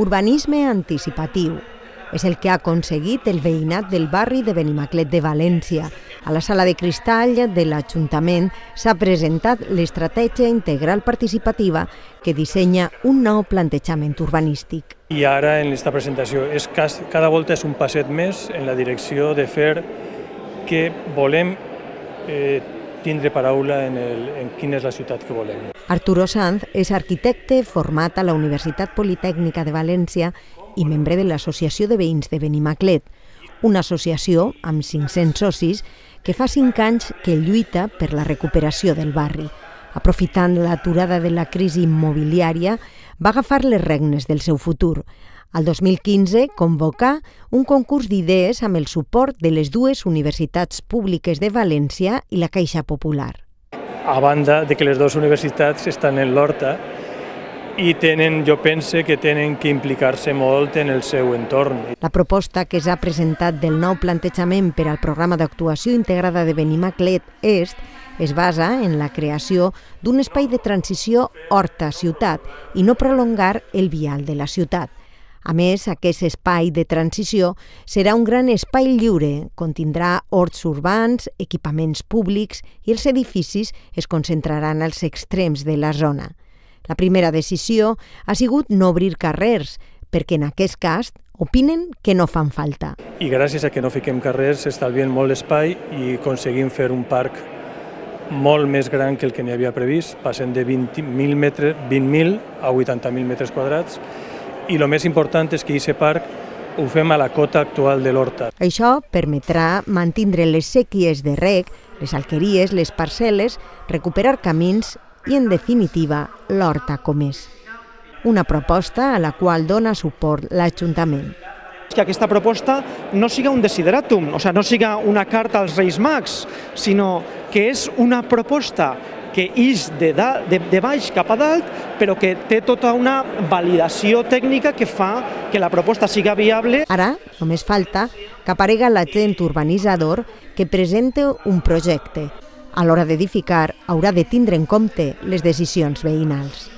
Urbanisme anticipatiu. És el que ha aconseguit el veïnat del barri de Benimaclet de València. A la sala de cristall de l'Ajuntament s'ha presentat l'estratègia integral participativa que dissenya un nou plantejament urbanístic. I ara en aquesta presentació cada volta és un passet més en la direcció de fer que volem tindre paraula en quina és la ciutat que volem. Arturo Sanz és arquitecte format a la Universitat Politècnica de València i membre de l'Associació de Veïns de Benimaclet, una associació amb 500 socis que fa 5 anys que lluita per la recuperació del barri. Aprofitant l'aturada de la crisi immobiliària, va agafar les regnes del seu futur. Al 2015 convocà un concurs d'idees amb el suport de les dues universitats públiques de València i la Caixa Popular. A banda de que les dues universitats estan en l'Horta i jo pense que tenen que implicar-se molt en el seu entorn. La proposta que s'ha presentat del nou plantejament per al programa d'actuació integrada de Benimaclet Est es basa en la creació d'un espai de transició horta-ciutat i no prolongar el vial de la ciutat. A més, aquest espai de transició serà un gran espai lliure, contindrà horts urbans, equipaments públics i els edificis es concentraran als extrems de la zona. La primera decisió ha sigut no obrir carrers, perquè en aquest cas opinen que no fan falta. I gràcies a que no fiquem carrers s'estalvien molt espai i aconseguim fer un parc molt més gran que el que n'hi havia previst, passem de 20.000 a 80.000 metres quadrats, i el més important és que aquest parc ho fem a la cota actual de l'Horta. Això permetrà mantindre les sèquies de reg, les alqueries, les parcel·les, recuperar camins i, en definitiva, l'Horta com és. Una proposta a la qual dona suport l'Ajuntament. Que aquesta proposta no siga un desideratum, no siga una carta als Reis Mags, sinó que és una proposta que ix de baix cap a dalt, però que té tota una validació tècnica que fa que la proposta siga viable. Ara només falta que aparega l'agent urbanitzador que presente un projecte. A l'hora d'edificar haurà de tindre en compte les decisions veïnals.